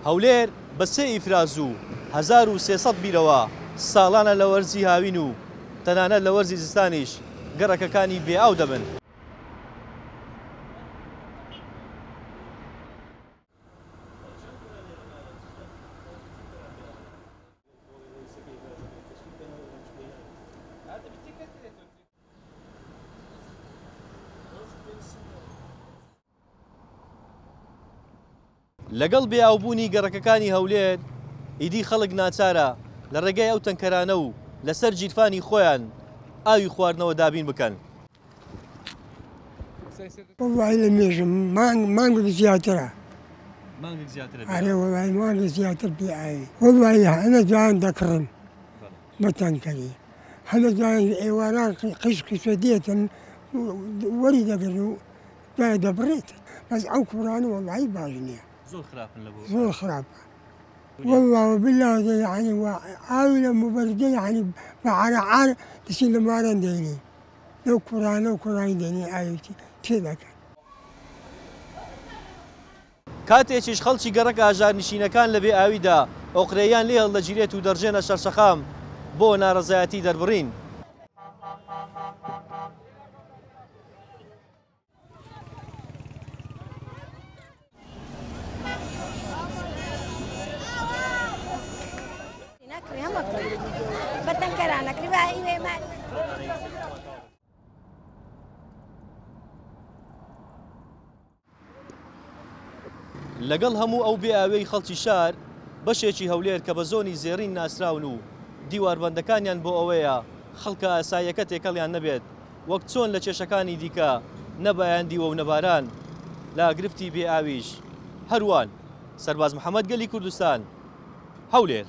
هەولێر بە سێ ئیفراز و 1300 بیرەوە ساڵانە لە وەرزی هاوین و تەنانەت لە وەرزی زستانیش گەڕەکەکانی بێ ئاو دەبن. لەگەڵ بێ ئاوبوونی گەڕەکەکانی هەولێر، ئیدی خەڵک ناچارە لە ڕێگای ئەو تەنکەرانە و لەسەر گیرفانی خۆیان ئاوی خواردنەوە دابین بکەن. وەڵڵاهی لە مێژە مانگ مانگێک زیاترە. مانگێک زیاترە بێ ئەرێ وەڵڵاهی مانگێک زیاتر بێ ئاوی. وەڵڵاهی هەنە جوان دەکڕن بە تەنکەری هەنە جوان ئێواران قیش قیشە دێتن وەری دەگرن و دوای دەبڕێت بەس ئەو کوڕانە وەڵڵاهی باش نییە. زۆر خراپن لە بۆ زۆر خراپە واللە وباللە یعنی ئاوی لە مبەردە یعنی بە عارە عار دەچین لە ماران دێنین لەو کوڕانە و کوڕانی دێنین ئاوی تێ دەکەن. کاتێکیش خەڵکی گەڕەکە هەژارنشینەکان لە بێ ئاویدا ئۆقرەیان لێ هەڵدەگیرێت و دەڕژێنە سەرشەقام بۆ ناڕەزایەتی دەربڕین. لەگەڵ هەموو ئەو بێ ئاویەی خەڵکی شار، بەشێکی هەولێر کە بە زۆنی زێڕین ناسراون و دیواربەندەکانیان بۆ ئەوەیە خەڵکە ئاساییەکە تێکەڵیان نەبێت، وەک چۆن لە کێشەکانی دیکە نە بایان دیوە و نە باران، لە گرفتی بێ ئاویش هەر وان. سەرباز محەمەد گەلی کوردستان، هەولێر.